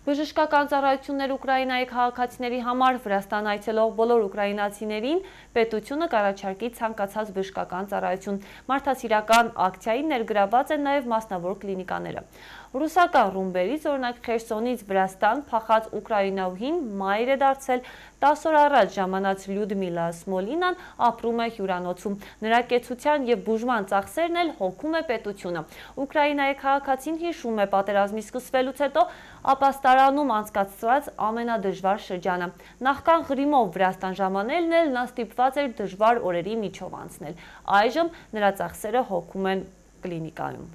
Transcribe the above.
Բժշկական ծառայություններ Ուկրաինայի քաղաքացիների համար Վրաստան այցելող բոլոր ուկրաինացիներին պետությունը կառաջարկի ցանկացած բժշկական ծառայություն։ Մարդասիրական ակցիային ներգրավված են նաև մասնավոր կլինիկաները։ Ռուսական ռումբերից, օրինակ Խերսոնից Վրաստան փախած ուկրաինահին մայր է դարձել 10 օր առաջ ժամանած Լյուդմիլա Սմոլինան ապրում է հյուրանոցում։ Նրա կեցության և բուժման ծախսերն էլ հոգում է պետությունը։ Ուկրաինայի քաղաքացին հիշում է պատերազմի սկսվելուց հետո ապաստարանում անցկացրած ամենադժվար շրջանը։ Նախքան Ղրիմով Վրաստան ժամանելն էլ նա ստիպված էր դժվար օրերի միջով անցնել։ Այժմ նրա ծախսերը հոգում են կլինիկայում։